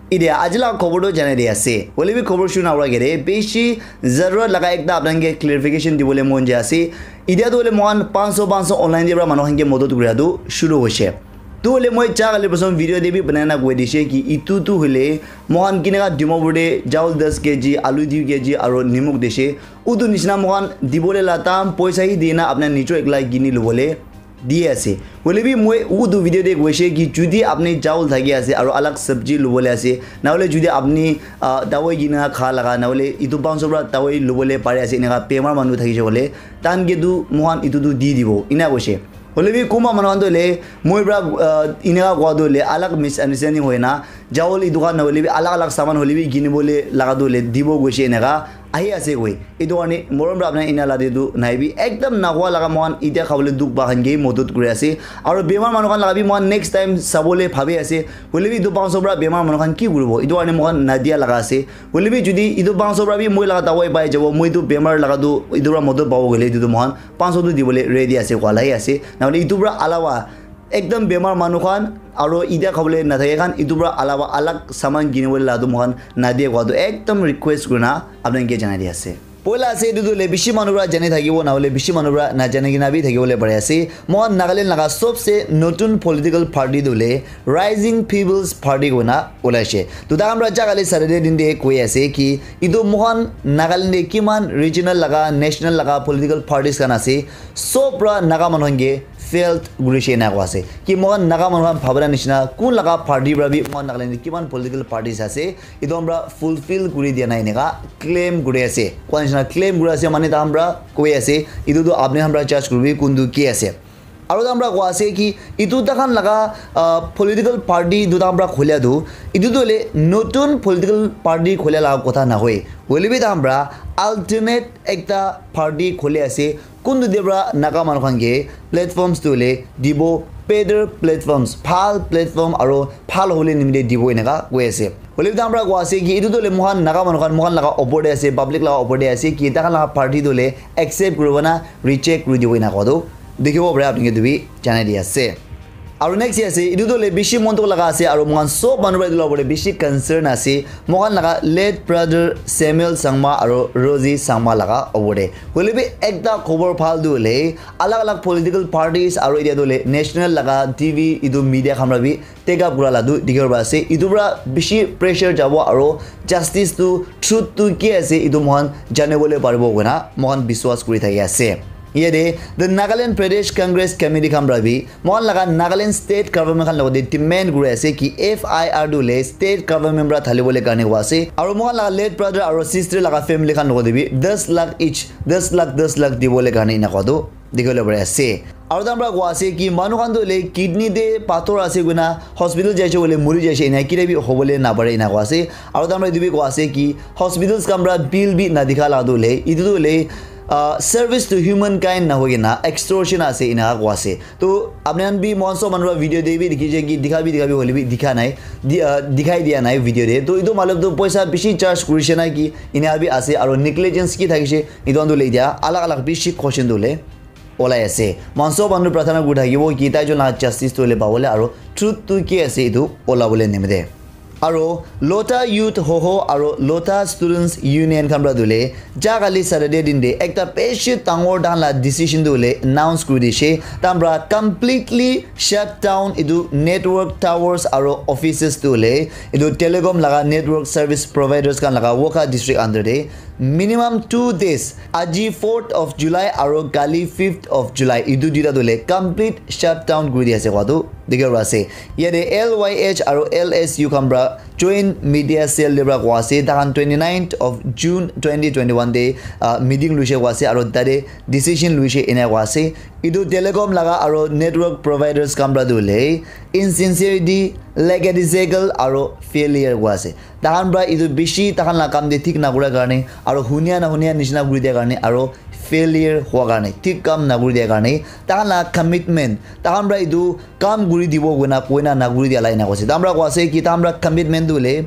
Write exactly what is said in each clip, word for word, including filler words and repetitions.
Idia aji laga khobor toh janai di ase. Hoile bi khobor shuru nahua agete bishi zarurat laga ekta apni khan ke clarification dibole mon jai ase. Idia toh hoile moikhan panch sho panch sho online te para manu khan ke modot kura toh shuru hoise. Toh hoile moi ja kali prothom video te bi banai na koi dise ki itu toh hoile moikhan kineka Dimapur te chawal das K G, alu dui K G aro nimok dise. Utu nishina moikhan dibole la tam poisa hi dina apni nijor ekla kini lobole di ase. Hoile bi moi utu video te koise ki judi apni chawal thaki ase aro alag sabji lobole ase, na hoile judi apni, ah, dawai kina kha laga, na hoile itu panch sho para dawai lobole pare ase, eneka bemar manu thakise hoile, tan ke tu moikhan itu tu di dibo, ena koise. Hoile bi kunba manu khan toh hoile moi para, ah, eneka kowa toh hoile alag misunderstanding hoi na, chawal itu khan na hoile bi alag alag saman hoile bi kinibole laga toh hoile dibo koise eneka ahi ase koi. Itu karne morom para apni ena la de tu nai bi ekdam nakowa laga moikhan itia khabole dukh pa khan ke modot kuri ase. Aro bemar manu khan laga bi moikhan next time sabole bhabi ase. Hoile bi itu panch sho para bemar manu khan ki kuribo? Itu karne moikhan nadia laga ase. Hoile bi judi itu panch sho para bi moi laga dawai pai jabo, moi itu bemar laga tu itu para modot pabo koile itu tu moikhan panch sho tu dibole ready ase kowa lahi ase. Na hoile itu para alawa ekdam bemar manu khan aro itia khabole nathake khan itu para alawa alag saman kinibole la tu moikhan nadia kowa tu ekdam request kurina apni ke janai di ase. Poila ase itu tu hoile bishi manu para jani thakibo, na hoile bishi manu para najani kina bi thakibole pari ase. Moikhan Nagaland laga sobse notun political party tu hoile Rising People's Party koina ulaise. To takhan para ja kali Saturday din te koi ase ki itu moikhan Nagaland te kiman regional laga, national laga political parties khan ase, sob para Naga manu khan ke failed kurise ena koa ase. Ki moikhan Naga manu khan bhabana nishina kun laga party para bi moikhan Nagaland te kiman political parties ase, itu khan para fulfill kuri dia nai eneka claim kuri ase. Koa nishina claim kuri ase mane takhan para koi ase, itu tu apni khan para judge kuribi kuntu ki ase. Aro takhan para koa ase ki itu takhan laga, ah, political party itu takhan para kholia tu, itu tu hoile notun political party kholia laga kotha nahoi. Hoile bi takhan para alternate ekta party kholi ase. Kuntu dia para Naga manu khan ke platforms tu hoile dibo, better platforms, bhal platform aro bhal hole nimite dibo eneka koi ase. Hoile bi takhan para koa ase ki itu tu hoile moikhan Naga manu khan moikhan laga opor te ase, public laga opor te ase ki takhan laga party tu hoile accept kuribo na reject kuri dibo eneka koa tu dikhibo pare apni ke tu bi janai di ase. Aro next ase, itu tu hoile bishi mon dukh laga ase, aro moikhan sob manu para itu la opor te bishi concern ase. Moikhan laga late brother Samuel Sangma aro Rosie Sangma laga opor te. Hoile bi ekta khobor bhal tu hoile, alag alag political parties aro itia tu hoile national laga T V itu media khan para bi take up kura la tu dikhibo pari ase. Itu para bishi pressure jabo aro justice tu, truth tu ki ase, itu moikhan janibole paribo koina moikhan biswas kuri thaki ase. Yate, the Nagaland Pradesh Congress Committee khan para bi, moikhan laga Nagaland State Government khan logote demand kuri ase ki F I R tu hoile State Government para dhalibole karne koa ase. Aro moikhan laga late brother aro sister laga family khan logote bi das lakh each, das lakh, das lakh dibole karne ena koa tu dikhiwole pari ase. Aro takhan para koa ase ki manu khan tu hoile kidney te pathor ase koina hospital jaise koile muri jaise, ena kile bi hobole napare ena koa ase. Aro takhan para etu bi koa ase ki hospitals khan para bill bi nadikha la tu hoile, etu tu hoile, ah, service to humankind nahoi kena extortion ase ena koa ase. To apni khan bi moikhan sob manu para video te bi dikhi je ki dikha bi dikha bi hoile bi dikha nai, di-, ah, dikhai dia nai video te. To etu matlab tu poisa bishi charge kurise na ki ena bi ase, aro negligence ki thakise, etu khan tu hoile etia alag alag bishi question tu hoile olai ase. Moikhan sob manu pratana kuri thakibo ki tai jon laga justice tu hoile pabole aro truth tu ki ase etu olabole nimite. Aro Lotha Youth Hoho aro Lotha Students Union khan para tu hoile ja kali Saturday din te ekta bishi dangor takhan la decision tu hoile announce kuri dishe. Takhan para completely shut down etu network towers aro offices tu hoile etu telecom laga network service providers khan laga Wokha district under te minimum two days, aji fourth of July aro kali fifth of July, etu duita tu hoile complete shutdown kuri di ase koa tu dikhibo pari ase. Yate L Y H aro L S U khan para joint media cell te para koa ase, takhan twenty ninth of June twenty twenty one te, ah, meeting luise koa ase aro tate decision luise ena koa ase. Etu telecom laga aro network providers khan para tu hoile insincerity, lackadaisical aro failure koa ase. Takhan para etu bishi takhan la kam te thik nakura karne aro hunia nahunia nishina kuri dia karne aro failure hua karne, thik kam nakuri dia karne, takhan la commitment, takhan para etu kam kuri dibo koina koina nakuri dia la ena koise. Takhan para koa ase ki takhan para commitment tu hoile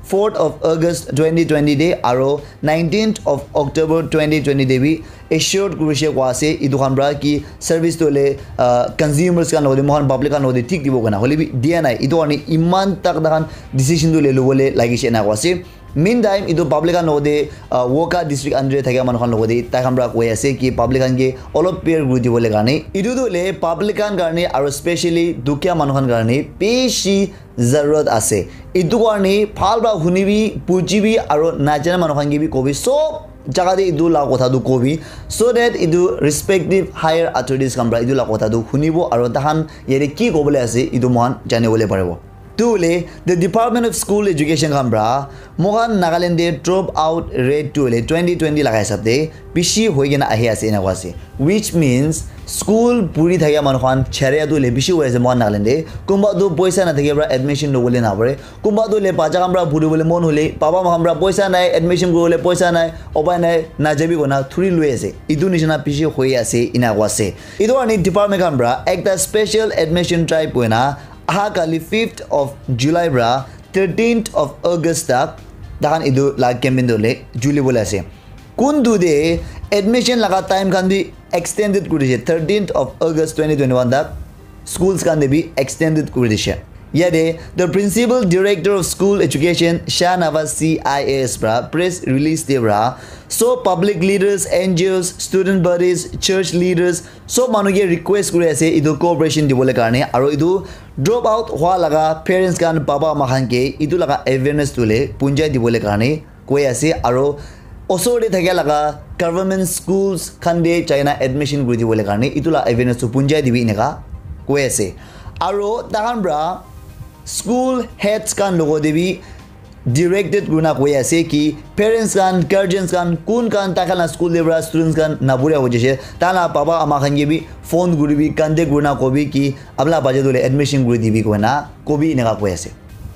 fourth of August twenty twenty te aro nineteenth of October twenty twenty te bi assured kurishe koa ase. Etu khan pra ki service tu hoile, ah, consumers khan logode, moikhan public khan logode thik dibo koina hoile bi dia nai. Etu karne iman tak takhan decision tu le lobole lagishe ena koa ase. Meantime, etu public khan logode, ah, Wokha district under te thakia manu khan logode tai khan pra koi ase ki public khan ke olop bear kuri dibole karne. Etu tu hoile public khan karne aro specially dukhia manu khan karne bishi zarurat ase. Etu karne bhal pra hunibi, bujibi aro najana manu khan ke bi kobi, sob jaga te etu la kotha tu kobi, so that etu respective higher authorities khan pra etu la kotha tu hunibo aro tahan yate ki kobole ase etu moikhan janibole paribo. Tu hoile the Department of School Education khan pra moikhan Nagaland te drop out rate tu hoile twenty twenty laga hisab te bishi hoi kena ahi ase ena koa ase, which means school puri thakia manu khan charia tu hoile bishi hoi ase moikhan Nagaland te. Kunba tu poisa na thakia pra admission lobole na pare, kunba tu hoile bacha khan pra puri bole mon hole baba ma khan pra poisa nai, admission kuribole poisa nai, upai nai, najabi koina thuri loi ase. Etu nishina bishi hoi ase ena koa ase. Etu karne department khan pra ekta special admission drive koina aha kali fifth of July pra thirteenth of August tak tahan etu la campaign tu hoile juli bole ase. Kun tu te admission laga time khan bi extended kuri dishe, thirteenth of August twenty twenty-one tak schools khan te bi extended kuri dishe. Yate the Principal Director of School Education, Shahnawaz C I A S pra press release te pra, so public leaders, N G Os, student bodies, church leaders, sob manu ke request kuri ase etu cooperation dibole karne, aro etu drop out hua laga parents khan, baba ama khan ke etu laga awareness tu hoile punjai dibole karne koi ase, aro osor te thakia laga government schools khan te jaina admission kuri dibole karne etu la awareness tu punjai dibi eneka koi ase. Aro tahan pra school heads khan logode bi directed kurina koi ase ki parents khan, guardians khan, kun khan tai khan la school te pra students khan naburia hoi jai se, tai la baba ama khan ke bi phone kuribi, contact kurina kobi ki apna bacha tu hoile admission kuri dibi koina kobi eneka koi ase.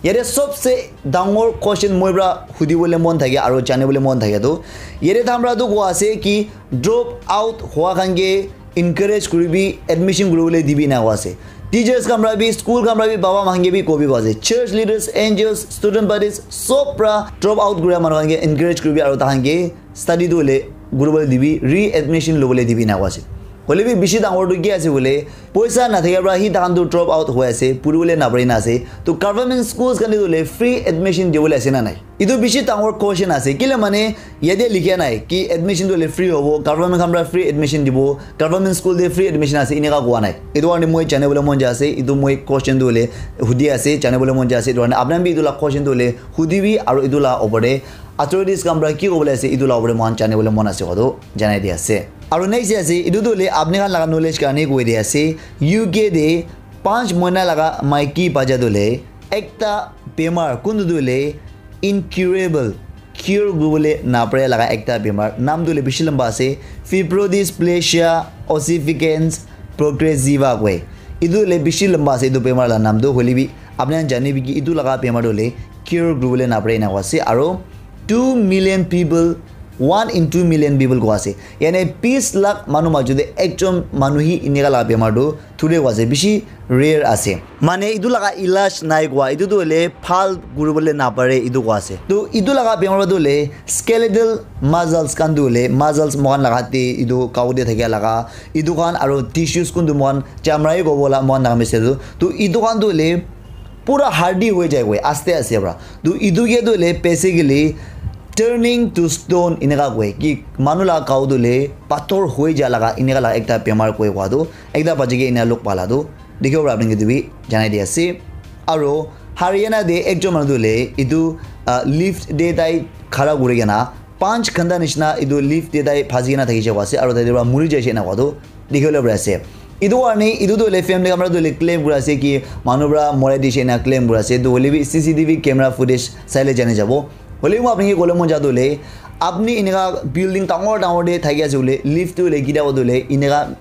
Yate sobse dangor question moi pra hudibole mon thake aro janibole mon thake tu, yate tahan pra tu koa ase ki drop out hua khan ke encourage kuribi, admission kuribole dibi ena koa ase. Teachers khan pra bi, school khan pra bi, baba ma khan ke bi kobi koa ase. Church leaders, N G Os, student bodies, sob pra drop out kuria manu khan ke encourage kuribi aro tahan ke study tu hoile kuribole dibi, readmission lobole dibi ena koa ase. Hoile bi bishi dangor tu ki ase hoile, poisa na thakia pra hi tahan tu drop out hoi ase, puribole na pari na ase. To government schools khan te tu hoile free admission dibole ase na nai? Etu bishi dangor question ase. Kile mane yate likhia nai ki admission tu hoile free hobo, government khan pra free admission dibo, government school te free admission ase eneka koa nai. Etu karne moi janibole mon jai ase, etu moi question tu hoile hudi ase, janibole mon jai ase. Etu karne apna bi etu la question tu hoile hudibi aro etu la opor te authorities khan pra ki kobole ase etu la opor te moikhan janibole mon ase koa tu janai di ase. Aro next ase, etu tu hoile apni khan laga knowledge karne koi di ase, U K te panch mohina laga maiki bacha tu hoile ekta bemar kuntu tu hoile incurable, cure kuribole napare laga ekta bemar, naam tu hoile bishi lamba ase, fibrodysplasia ossificans progressiva koi. Etu hoile bishi lamba ase etu bemar la naam tu, hoile bi apni khan janibi ki etu laga bemar tu hoile cure kuribole napare ena koa ase. Aro two million people, one in two million people koa ase, yane bis lakh manu majot te ekjon manu hi eneka laga bemar tu thuri koa ase, bishi rare ase. Mane etu laga ilaj nai koa, etu tu hoile bhal kuribole napare etu koa ase. To etu laga bemar tu hoile skeletal muscles khan tu hoile, muscles moikhan laga te etu gao te thakia laga etu khan aro tissues kuntu moikhan chamra hi kobo la moikhan Nagamese tu. To etu khan tu hoile pura hardi hoi jai koi aste aste pra. To etu ke tu hoile basically turning to stone eneka koi ki manu laga gao tu hoile pathor hoi ja laga eneka laga ekta bemar koi koa tu ekta bachi ke ena log pala tu dikhibo para apni khan ke etu bi janai di ase. Aro Haryana te ekjon manu tu hoile etu, ah, lift te tai khara kuri kena panch ghanta nishina etu lift te tai phansi kena thakishe koa ase aro tai tu para muri jaishe ena koa tu dikhibo le pari ase. Etu karne etu tu hoile family khan para tu hoile claim kuri ase ki manu para morai dishe ena claim kuri ase. Tu hoile bi C C T V camera footage saile jani jabo. Hoile bi moi apni ke kole mon ja tu hoile apni eneka building dangor dangor te thaki ase hoile lift tu hoile kitia hotu hoile eneka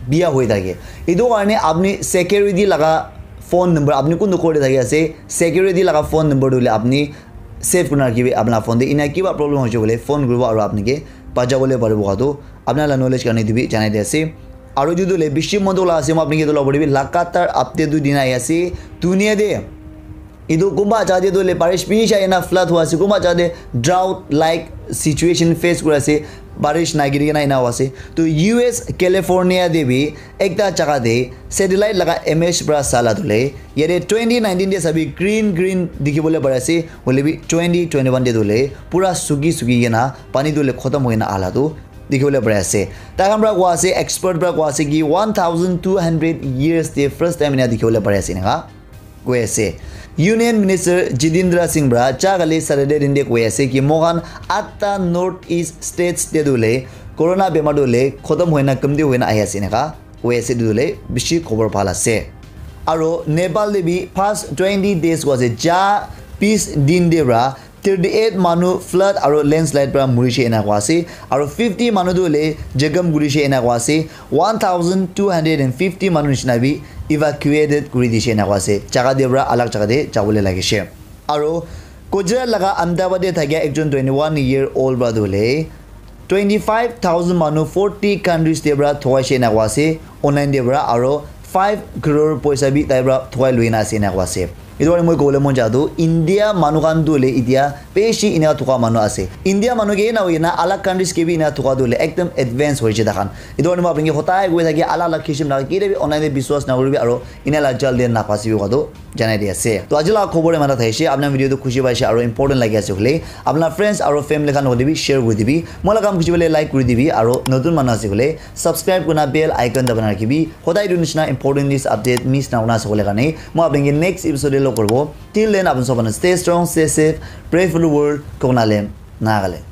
biya hoi thake. Etu karne apni security laga phone number, apni kuntu ghor te thaki ase, security laga phone number tu hoile apni save kurina rakhibi apna phone te. Ena kiba problem hoise koile phone kuribo aru apni ke bachabo le paribo koa tu apna la knowledge karne etu bi janai di ase. Aru etu tu hoile bishi mon dukh laga ase, moi apni ke etu la opor te bi lagatar update tu dina ahi ase. Dunia te Etu kunba jaga te tu le barish bishi ahina flood hua ase, kunba jaga te drought like situation face kuri ase, barish nagiri kena ena hua ase. To U S California te bi ekta jaga te satellite laga image pra sala tu le yate twenty nineteen te sabi green green dikhi bole pari ase, hoile bi twenty twenty-one te tu le pura suki suki kena pani tu le khotom hoi kena ala tu dikhi bole pari ase. Tai khan pra kua ase, expert pra kua ase ki one thousand two hundred years te first time ena dikhi bole pari ase eneka koi ase. Union Minister Jitendra Singh pra cha kali Saturday din te koi ase ki moikhan atta North East states te tu le corona bemar tu le khotom hoina kamti hoina ahi ase eneka koi ase, tu le bishi khobor bhal ase. Aro Nepal te bi past twenty days koi ase, ja bis din te pra thirty-eight manu flood aro landslide pra murishe ena koi ase, aro fifty manu tu le jagam kurishe ena koi ase, one thousand two hundred and fifty manu nishina bi evacuated kuri dishe ena koi ase, jaga te pra alag jaga te jabole lagishe. Aro Gujarat laga Ahmedabad te thakia ekjon twenty-one year old pra tu le twenty-five thousand manu forty countries te pra thokaishe ena koi ase, online te pra, aro five crore poisa bi tai pra thokai lui na ase ena koi ase. Etu karne moi kobole mon ja tu India manu khan tu le itia beshi ena thoka manu ase. India manu ke na hoina alag countries ke bi ena thoka tu le ekdam advance hoise takhan. Etu karne moi apni ke hotai koi thaki alag alag kishim laga kile bi online te biswas na koribi aro ena la jal de na phasibi koi tu janai di ase. To aji la khobor eman ta thaishe, apna video tu khushi paishe aro important lagi ase hoile apna friends aro family khan hoile bi share kuri dibi. Moi la kam khushi paile like kuri dibi aro notun manu ase hoile subscribe kurna bell icon dabana rakhibi. Hodai etu nishina important news update miss na kurna ase hoile karne moi apni ke next episode te log koribo. Till then, apni sob stay strong, stay safe, pray for the world, Konale, Nagaland.